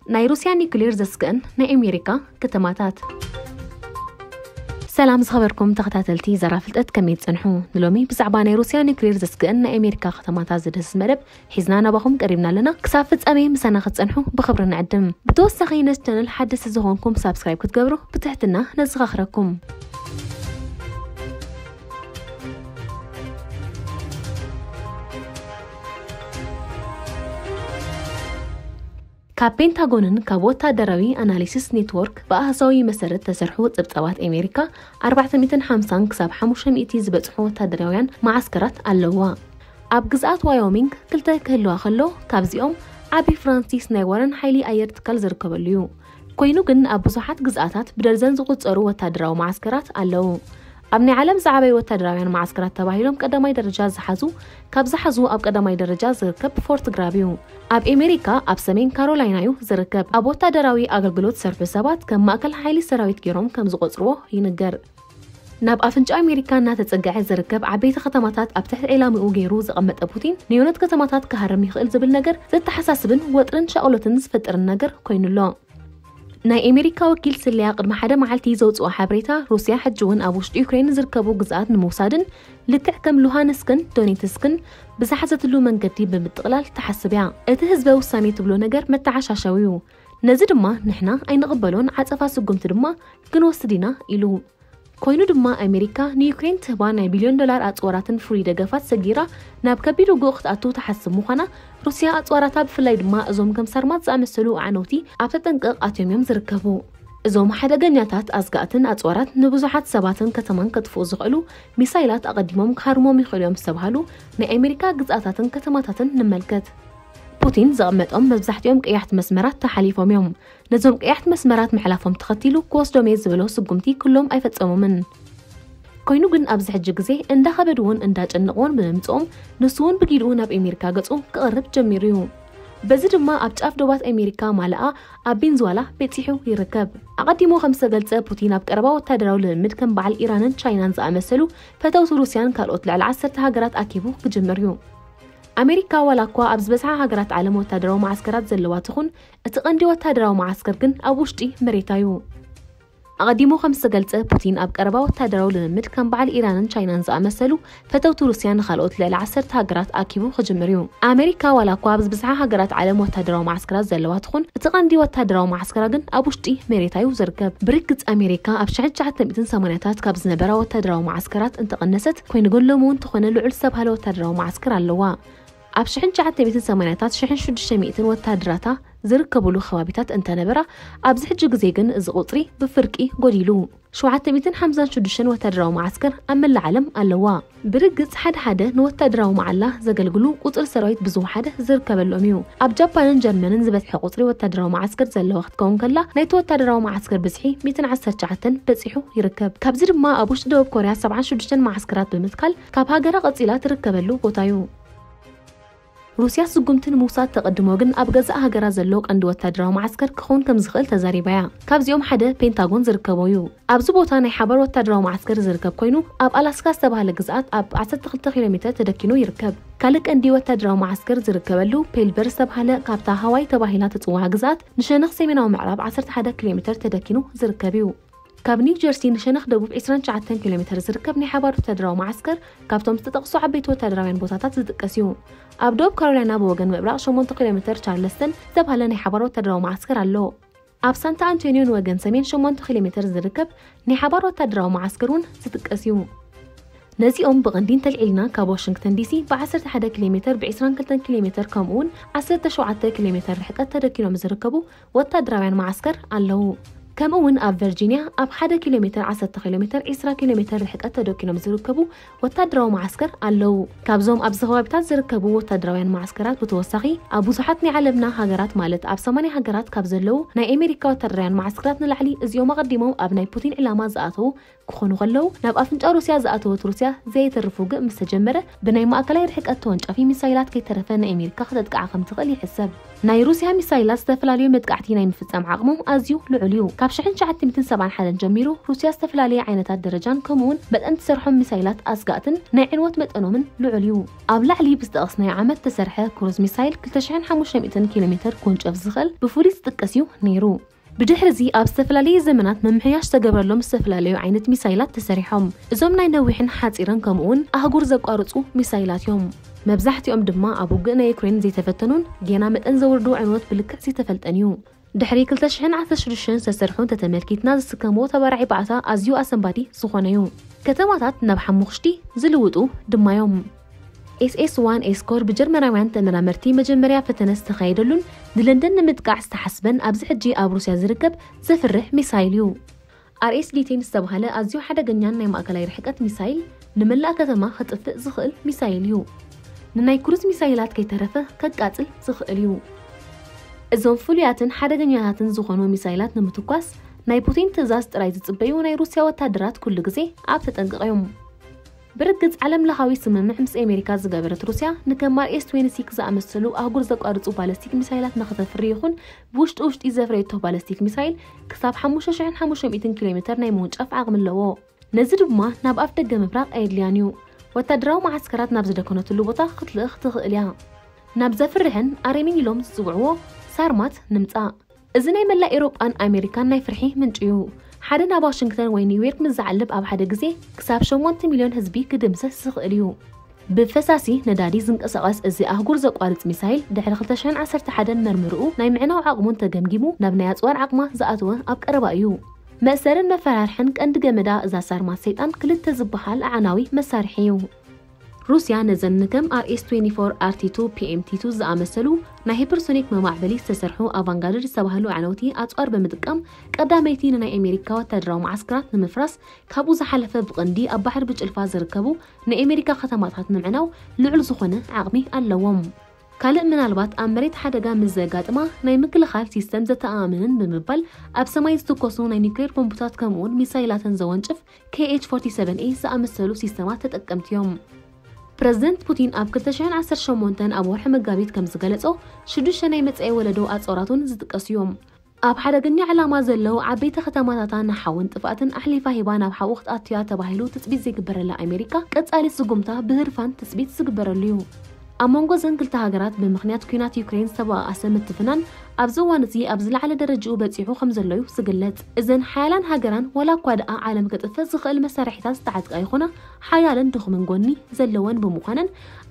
ናይ ሩስያ ኒኩሌር ዘስግእን ናይ ኣሜሪካ ከተማታት። ሰላም ዝኸበርኩም ተኸታተልቲ ዘራ ፍልጠት፣ ከመይ ትጸንሑ? ንሎሚ ብዛዕባ ናይ ሩስያ ኒኩሌር ዘስግእን ናይ ኣሜሪካ ከተማታት ዝድህስስ መደብ ሒዝና ናባኹም ቀሪብና ኣለና። ክሳብ ፍጻሜ ምሳና ክትጸንሑ ብኽብሪ ንዕድም። ብተወሳኺ ነዚ ቻነል ሓደስቲ ዝኾንኩም ሳብስክራይብ ክትገብሩ ብትሕትና ነዘኻኽረኩም። ካብ ፔንታጎንን ካብ ወታደራዊ ኣናሊሲስ ኔትወርክ ብኣሃዛዊ መሰረት ተሰርሑ ጽብጻባት ኣሜሪካ ኣርባዕተ ሚእትን ሓምሳን ክሳብ ሓሙሽተ ሚእቲ ዝበጽሑ ወታደራውያን መዓስከራት ኣለዋ። ኣብ ግዝኣት ዋዮሚንግ ክልተ ክህልዋ ከሎ፣ ካብዚኦም ዓቢ ፍራንሲስ ናይ ዋረን ሓይሊ ኣየር ትካል ዝርከበሉ እዩ። ኮይኑ ግን ኣብ ብዙሓት ግዝኣታት ብደርዘን ዝቑጸሩ ወታደራዊ መዓስከራት ኣለዉ። ኣብ ናይ ዓለም ዝዓበዩ ወታደራውያን መዓስከራት ተባሂሎም ቀዳማይ ደረጃ ዝሓዙ፣ ካብ ዝሓዙ ኣብ ቀዳማይ ደረጃ ዝርከብ ፎርት ግራብ እዩ። ኣብ ኣሜሪካ ኣብ ሰሜን ካሮላይና እዩ ዝርከብ። ኣብ ወታደራዊ ኣገልግሎት ዝሰርሑ ሰባት ከም ማእከል ሓይሊ ሰራዊት ገይሮም ከም ዝቖጽርዎ ይንገር። ናብ ኣፍንጫ ኣሜሪካ እናተጸግዐ ዝርከብ ዓበይቲ ከተማታት ኣብ ትሕቲ ዒላምኡ ገይሩ ዘቐመጠ ፑቲን፣ ንዮነት ከተማታት ክሃርም ይኽእል ዝብል ነገር ዘተሓሳስብን ወጥርን ሻቕሎትን ዝፈጥርን ነገር ኮይኑ ኣሎ። ናይ ኣሜሪካ ወኪል ስለያ ቅድሚ ሓደ መዓልቲ ዘውጽኦ ሓበሬታ፣ ሩስያ ሕጂ እውን ኣብ ውሽጢ ዩክሬን ዝርከቡ ግዝኣት ንምውሳድን ልክዕ ከም ሉሃንስክን ዶኔትስክን ብዝሓዘትሉ መንገዲ ብምጥቕላል ትሓስብ እያ። እቲ ህዝበ ውሳኔ ትብሎ ነገር መተዓሻሸዊ እዩ። ነዚ ድማ ንሕና ኣይንቕበሎን፣ ዓጸፋ ስጉምቲ ድማ ክንወስድ ኢና ኢሉ። ኮይኑ ድማ ኣሜሪካ ንዩክሬን ትህባ ናይ ቢልዮን ዶላር ኣጽዋራትን ፍሉይ ደገፋት ሰጊራ ናብ ከቢድ ውግእ ክትኣቱ ትሓስብ ምዃና፣ ሩስያ ኣጽዋራታ ብፍላይ ድማ እዞም ከም ሳርማት ዝኣመሰሉ ኣዕነውቲ ኣብ ተጠንቀቕ ኣትዮም እዮም ዝርከቡ። እዞም ሓደገኛታት ኣስጋእትን ኣጽዋራት ንብዙሓት ሰባትን ከተማን ከጥፍኡ ዝኽእሉ ሚሳይላት ኣቐዲሞም ክሃርሞም ይኽእሉ እዮም ዝተባህሉ ናይ ኣሜሪካ ግዝኣታትን ከተማታትን ንመልከት። ፑቲን ዘቐመጦም መብዛሕትኦም ቀያሕቲ መስመራት ተሓሊፎም እዮም። ነዞም ቀያሕቲ መስመራት ምሕላፎም ተኸቲሉ ክወስዶም እየ ዝበሎ ስጉምቲ ኩሎም ኣይፈጸሞምን። ኮይኑ ግን ኣብዚ ሕጂ ግዜ እንዳኸበድዎን እንዳጨነቕዎን ብምምጽኦም፣ ንሱ እውን ብጊድኡ ናብ ኣሜሪካ ገጹ ክቐርብ ጀሚሩ እዩ። በዚ ድማ ኣብ ጫፍ ዶባት ኣሜሪካ ማለኣ ኣብ ቬንዙዋላ በጺሑ ይርከብ። ኣቐዲሙ ከም ዝተገልጸ፣ ፑቲን ኣብ ቀረባ ወታደራዊ ልምምድ ከም በዓል ኢራንን ቻይናን ዝኣመሰሉ ፈተውቲ ሩስያን ካልኦት ልዕሊ ዓሰርተ ሃገራት ኣኪቡ ክጅምር እዩ። ኣሜሪካ ዋላ እኳ ኣብ ዝበዝሓ ሃገራት ዓለም ወታደራዊ መዓስከራት ዘለዋ ትኹን፣ እቲ ቀንዲ ወታደራዊ መዓስከር ግን ኣብ ውሽጢ መሬታ እዩ። ኣቐዲሙ ከም ዝተገልጸ፣ ፑቲን ኣብ ቀረባ ወታደራዊ ልምምድ ከም በዓል ኢራንን ቻይናን ዝኣመሰሉ ፈተውቲ ሩስያ ንኻልኦት ልዕሊ ዓሰርተ ሃገራት ኣኪቡ ክጅምር እዩ። ኣሜሪካ ዋላ እኳ ኣብ ዝበዝሓ ሃገራት ዓለም ወታደራዊ መዓስከራት ዘለዋ ትኹን፣ እቲ ቀንዲ ወታደራዊ መዓስከራ ግን ኣብ ውሽጢ መሬታ እዩ ዝርከብ። ብርግጽ ኣሜሪካ ኣብ ሽሕን ትሽዓተ ሚእትን ሰማንያታት ካብ ዝነበራ ወታደራዊ መዓስከራት እንተቐነሰት፣ ኮይኑ ግን ሎሚ እውን እንተኾነ ልዑል ዝተባህለ ወታደራዊ መዓስከር ኣለዋ። ኣብ ሽሕን ትሽዓተ ሚእትን ሰማንያታት ሽሕን ሽዱሽተ ሚእትን ወታደራታ ዝርከብሉ ከባቢታት እንተነበራ፣ ኣብዚ ሕጂ ግዜ ግን እዚ ቁጽሪ ብፍርቂ ጎዲሉ። ሸውዓተ ሚእትን ሓምሳን ሽዱሽተን ወታደራዊ መዓስከር ኣብ መላእ ዓለም ኣለዋ። ብርግጽ ሓደ ሓደ ንወታደራዊ መዓላ ዘገልግሉ ቁጽሪ ሰራዊት ብዝወሓደ ዝርከበሎም እዩ። ኣብ ጃፓንን ጀርመንን ዝበዝሐ ቁጽሪ ወታደራዊ መዓስከር ዘለዋ ክትከውን ከላ፣ ናይቲ ወታደራዊ መዓስከር ብዝሒ ሚእትን ዓሰርተ ትሽዓተን በጺሑ ይርከብ። ካብዚ ድማ ኣብ ውሽጢ ደቡብ ኮርያ ሰብዓን ሽዱሽተን መዓስከራት ብምትካል ካብ ሃገራ ቀጺላ ትርከበሉ ቦታ እዩ። ሩስያ ስጉምቲ ንምውሳድ ተቐድሞ ግን ኣብ ገዛእ ሃገራ ዘሎ ቀንዲ ወታደራዊ መዓስከር ክኸውን ከም ዝኽእል ተዛሪባ እያ። ካብዚኦም ሓደ ፔንታጎን ዝርከቦ እዩ። ኣብዚ ቦታ ናይ ሓባር ወታደራዊ መዓስከር ዝርከብ ኮይኑ፣ ኣብ ኣላስካ ዝተባህለ ግዝኣት ኣብ ዓሰርተ ክልተ ኪሎ ሜተር ተደኪኑ ይርከብ። ካልእ ቀንዲ ወታደራዊ መዓስከር ዝርከበሉ ፔልበር ዝተባህለ፣ ካብታ ሃዋይ ተባሂላ ትጽዋዕ ግዝኣት ንሸነኽ ሰሜናዊ ምዕራብ ዓሰርተ ሓደ ኪሎ ሜተር ተደኪኑ ዝርከብ እዩ። ካብ ኒው ጀርሲ ንሸነኽ ደቡብ ዕስራን ትሽዓተን ኪሎ ሜተር ዝርከብ ናይ ሓባር ወታደራዊ መዓስከር ካብቶም ዝተጠቕሱ ዓበይቲ ወታደራውያን ቦታታት ዝጥቀስ እዩ። ኣብ ደቡብ ካሮላይና ብወገን ምብራቕ ሸሞንተ ኪሎ ሜተር ቻርለስተን ዝተባህለ ናይ ሓባር ወታደራዊ መዓስከር ኣሎ። ኣብ ሳንታ ኣንቶኒዮ ንወገን ሰሜን ሸሞንተ ኪሎ ሜተር ዝርከብ ናይ ሓባር ወታደራዊ መዓስከር እውን ዝጥቀስ እዩ። ነዚኦም ብቐንዲ እንተልዒልና፣ ካብ ዋሽንግተን ዲሲ ብዓሰርተ ሓደ ኪሎ ሜተር፣ ብዕስራን ክልተን ኪሎ ሜተር፣ ከምኡ እውን ዓሰርተ ሸውዓተ ኪሎ ሜተር ርሕቀት ተደኪኖም ዝርከቡ ወታደራውያን መዓስከር ኣለዉ። ከምኡ እውን ኣብ ቨርጂንያ ኣብ ሓደ ኪሎ ሜተር፣ ዓሰርተ ኪሎ ሜተር፣ ዕስራ ኪሎ ሜተር ርሕቀት ተደኪኖም ዝርከቡ ወታደራዊ መዓስከር ኣለዉ። ካብዞም ኣብዚ ከባቢታት ዝርከቡ ወታደራውያን መዓስከራት ብተወሳኺ፣ ኣብ ብዙሓት ናይ ዓለምና ሃገራት፣ ማለት ኣብ ሰማንያ ሃገራት ካብ ዘለዉ ናይ ኣሜሪካ ወታደራውያን መዓስከራት ንላዕሊ፣ እዚኦም ኣቐዲሞም ኣብ ናይ ፑቲን ዕላማ ዝኣተዉ ክኾኑ ከለዉ፣ ናብ ኣፍንጫ ሩስያ ዝኣተወት ሩስያ ዘየተርፍ ውግእ ምስ ተጀመረ፣ ብናይ ማእከላይ ርሕቀት ተወንጫፊ ሚሳይላት ከይተረፈ ንኣሜሪካ ከተጥቅዓ ከም ትኽእል ይሕሰብ። ናይ ሩስያ ሚሳይላት ዝተፈላለዩ መጥቃዕቲ ናይ ምፍጻም ዓቕሞም ኣዝዩ ልዑል እዩ። ካብ ሽሕን ትሽዓተ ሚእትን ሰብዓን ሓደን ጀሚሩ፣ ሩስያ ዝተፈላለየ ዓይነታት ደረጃን ከምኡውን መጠን ትሰርሖም ሚሳይላት ኣስጋእትን ናይ ዕንወት መጠኖምን ልዑል እዩ። ኣብ ላዕሊ ብዝጠቐስናዮ ዓመት ተሰርሐ ክሩዝ ሚሳይል ክልተ ሽሕን ሓሙሽተ ሚእትን ኪሎ ሜተር ክውንጨፍ ዝኽእል ብፍሉይ ዝጥቀስ እዩ ነይሩ። ብድሕሪ እዚ ኣብ ዝተፈላለየ ዘመናት ምምሕያሽ ዝተገበረሎም ዝተፈላለዩ ዓይነት ሚሳይላት ተሰሪሖም። እዞም ናይ ነዊሕን ሓጺርን ከምኡውን ኣህጉር ዘቋርጹ ሚሳይላት እዮም። መብዛሕትኦም ድማ ኣብ ውግእ ናይ ዩክሬን ዘይተፈተኑን ጌና መጠን ዘውርዱ ዕንወት ብልክዕ ዘይተፈልጠን እዩ። ድሕሪ ክልተ ሽሕን ዓሰርተ ሽዱሽተን ዝተሰርሑ እንተተመልኪትና ዝስከምዎ ተባራዒ ባዕታ ኣዝዩ ኣሰንባዲ ዝኾነ እዩ። ከተማታት ናብ ሓሙኽሽቲ ዝልውጡ ድማ እዮም። ኤስኤስ ዋን ኤስኮር ብጀርመናውያን ተመራመርቲ መጀመርያ ፈተነ ዝተኻየደሉን ንለንደን ንምጥቃዕ ዝተሓስበን ኣብዚ ሕጂ ኣብ ሩስያ ዝርከብ ዘፍርሕ ሚሳይል እዩ። ኣርኤስዲ ቴን ዝተባህለ ኣዝዩ ሓደገኛን ናይ ማእከላይ ርሕቀት ሚሳይል ንመላእ ከተማ ከጥፍእ ዝኽእል ሚሳይል እዩ። ንናይ ክሩዝ ሚሳይላት ከይተረፈ ከቃጽል ዝኽእል እዩ። እዞም ፍሉያትን ሓደገኛታትን ዝኾኑ ሚሳይላት ንምትኳስ ናይ ፑቲን ትእዛዝ ጥራይ ዝጽበዩ ናይ ሩስያ ወታደራት ኩሉ ግዜ ኣብ ተጠንቀቕ እዮም። ብርግጽ ዓለም ለኻዊ ስምምዕ ምስ ኣሜሪካ ዝገበረት ሩስያ ንከም ኣርኤስ ትዌንቲ ሲክስ ዝኣመሰሉ ኣህጉር ዘቋርጹ ባለስቲክ ሚሳይላት ንኽተፍሪ ይኹን ብውሽጢ ውሽጢ ዘፍረየቶ ባለስቲክ ሚሳይል ክሳብ ሓሙሽተ ሽሕን ሓሙሽተ ሚእትን ኪሎ ሜተር ናይ ምውንጫፍ ዓቕሚ ኣለዎ። ነዚ ድማ ናብ ኣፍ ደገ ምብራቕ ኣየድልያን እዩ። ወታደራዊ መዓስከራት ናብ ዝደከነትሉ ቦታ ክትልእኽ ትኽእል እያ። ናብ ዘፍርሕን ኣረሚን ኢሎም ዝጽውዕዎ ሳርማት ንምጻእ። እዚ ናይ መላእ ኤውሮጳን ኣሜሪካን ናይ ፍርሒ ምንጪ እዩ። ሓደ ናብ ዋሽንግተን ወይ ኒውዮርክ ምስ ዝዓልብ ኣብ ሓደ ግዜ ክሳብ ሸሞንተ ሚልዮን ህዝቢ ክድምሰስ ዝኽእል እዩ። ብፈሳሲ ነዳዲ ዝንቀሳቐስ እዚ ኣህጉር ዘቋርጽ ሚሳይል ድሕሪ ክልተ ሽሕን ዓሰርተ ሓደን መርምርኡ ናይ ምዕናው ዓቕሙን ተገምጊሙ ናብ ናይ ኣጽዋር ዓቕማ ዝኣተወ ኣብ ቀረባ እዩ። መእሰርን መፈራርሕን ቀንዲ ገመዳ እዛ ሳርማት ሰይጣን ክልተ ዝበሃል ኣዕናዊ መሳርሒ እዩ። ሩስያ ነዘን ንከም ኣርኤስ ትዌንቲ ፎር ኣርቲ ቱ ፒኤምቲ ቱ ዝኣመሰሉ ናይ ሂፐርሶኒክ መማዕበሊ ዝተሰርሑ ኣቫንጋርድ ዝተባህሉ ኣዕነውቲ ኣጽዋር ብምጥቃም ቀዳመይቲ ንናይ ኣሜሪካ ወታደራዊ መዓስከራት ንምፍራስ ካብኡ ዝሓለፈ ብቐንዲ ኣብ ባሕሪ ብጭልፋ ዝርከቡ ናይ ኣሜሪካ ከተማታት ንምዕናው ልዑል ዝኾነ ዓቕሚ ኣለዎም። ካልእ ምናልባት ኣብ መሬት ሓደጋ ምስ ዘጋጥማ ናይ ምክልኻል ሲስተም ዘተኣማምንን ብምባል ኣብ ሰማይ ዝትኮሱ ናይ ኒውክሌር ቦምቡታት ከምኡውን ሚሳይላትን ዘወንጭፍ ኬኤች ፎርቲ ሰቨን ኤ ዝኣመሰሉ ሲስተማት ተጠቀምቲ እዮም። ፕረዚደንት ፑቲን ኣብ ክልተ ሽሕን ዓሰርተ ሸሞንተን ኣብ ወርሒ መጋቢት ከም ዝገለጾ ሽዱሽተ ናይ መጻኢ ወለዶ ኣጽዋራቱን ዝጥቀሱ እዮም። ኣብ ሓደገኛ ዕላማ ዘለዉ ዓበይቲ ከተማታታ ንሓውን ጥፍኣትን ኣሕሊፋ ሂባ ናብ ሓዊ ክትኣቱያ ተባሂሉ ትጽቢት ዘይግበረላ ኣሜሪካ ቀጻሊ ስጉምታ ብህርፋን ትጽቢት ዝግበረሉ እዩ። ኣብ መንጎ እዘን ክልተ ሃገራት ብምኽንያት ኲናት ዩክሬን ዝተበኣኣሰ ምትፍናን ኣብዚ እዋን እዚ ኣብ ዝለዓለ ደረጃኡ በጺሑ ከም ዘሎ እዩ ዝግለጽ። እዘን ሓያላን ሃገራን ዋላ እኳ ደኣ ዓለም ከጥፍእ ዝኽእል መሳርሒታት ዝተዓጥቃ ይኹና ሓያልን ድኹምን ጎኒ ዘለወን ብምዃነን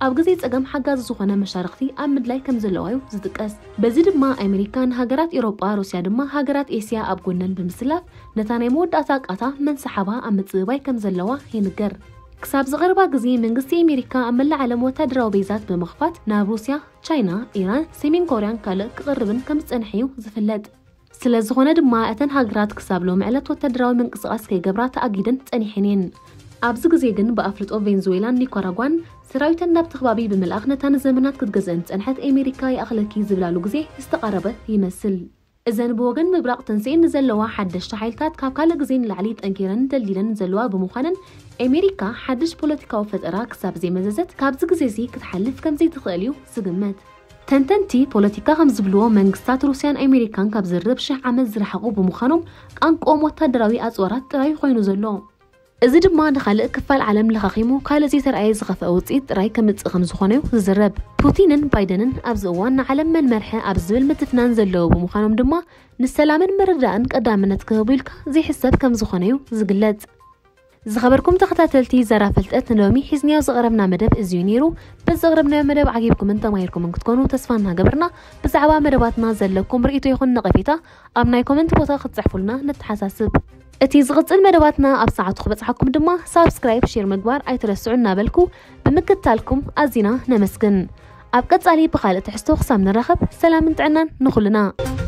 ኣብ ግዜ ጸገም ሓጋዚ ዝኾነ መሻርኽቲ ኣብ ምድላይ ከም ዘለዋ እዩ ዝጥቀስ። በዚ ድማ ኣሜሪካ ንሃገራት ኤውሮጳ፣ ሩስያ ድማ ሃገራት ኤስያ ኣብ ጎነን ብምስላፍ ነታ ናይ መወዳእታ ቃታ መን ሰሓባ ኣብ ምጽብባይ ከም ዘለዋ ይንገር። ክሳብ ዝቐርባ ግዜ መንግስቲ ኣሜሪካ ኣብ መላእ ዓለም ወታደራዊ ቤዛት ብምኽፋት ናብ ሩስያ፣ ቻይና፣ ኢራን፣ ሰሜን ኮርያን ካልእ ክቕርብን ከም ዝጸንሐ እዩ ዝፍለጥ። ስለ ዝኾነ ድማ እተን ሃገራት ክሳብ ሎሚ ዕለት ወታደራዊ ምንቅስቓስ ከይገብራ ተኣጊደን ጸኒሐን እየን። ኣብዚ ግዜ ግን ብኣፍልጦ ቬንዙዌላን ኒካራጓን ሰራዊተን ናብቲ ከባቢ ብምልኣኽ ነታ ንዘመናት ክትገዝአን ዝጸንሐት ኣሜሪካ ይኣኽለኪ ዝብላሉ ግዜ ዝተቓረበ ይመስል። እዘን ብወገን ምብራቕ ተንስኤን ንዘለዋ ሓደሽቲ ሓይልታት ካብ ካልእ ግዜ ንላዕሊ ጠንኪረን ደልዲለን ዘለዋ ብምዃነን ኣሜሪካ ሓድሽ ፖለቲካዊ ፈጠራ ክሳብ ዘይመዘዘት ካብዚ ግዜ እዚ ክትሓልፍ ከም ዘይትኽእል እዩ ዝግመት። ተንተንቲ ፖለቲካ ከም ዝብልዎ መንግስታት ሩስያን ኣሜሪካን ካብ ዝርርብ ሽሕ ዓመት ዝረሓቑ ብምዃኖም ቃንቆኦም ወታደራዊ ኣጽዋራት ጥራይ ኮይኑ ዘሎ። እዚ ድማ ንኻልእ ክፋል ዓለም ለኻኺሙ ካልእ ዘይተረኣየ ዝኸፍአ ውጽኢት ጥራይ ከምጽእ ከም ዝኾነ እዩ ዝዝረብ። ፑቲንን ባይደንን ኣብዚ እዋን ንዓለም መን መርሐ ኣብ ዝብል ምትፍናን ዘለዉ ብምዃኖም ድማ ንሰላምን ምርዳእን ቀዳምነት ክህቡ ኢልካ ዘይሕሰብ ከም ዝኾነ እዩ ዝግለጽ። ዝኸበርኩም ተኸታተልቲ ዘራ ፍልጠት ንሎሚ ሒዝናዮ ዝቐረብና መደብ እዚዩ ነይሩ። በዚ ዘቕረብናዮ መደብ ዓጊብኩምን ተማሂርኩምን ክትኮኑ ተስፋ እናገበርና ብዛዕባ መደባትና ዘለኩም ርእይቶ ይኹን ነቐፌታ ኣብ ናይ ኮመንት ቦታ ክትጽሕፉልና ንተሓሳስብ። እቲ ዝቕጽል መደባትና ኣብ ሰዓቱ ክበጽሓኩም ድማ ሳብስክራይብ፣ ሼር ምግባር ኣይትረስዑ እናበልኩ ብምክትታልኩም ኣዚና ነመስግን። ኣብ ቀጻሊ ብኻልእ ትሕዝቶ ክሳብ ንራኸብ ሰላምን ጥዕናን ንኹልና።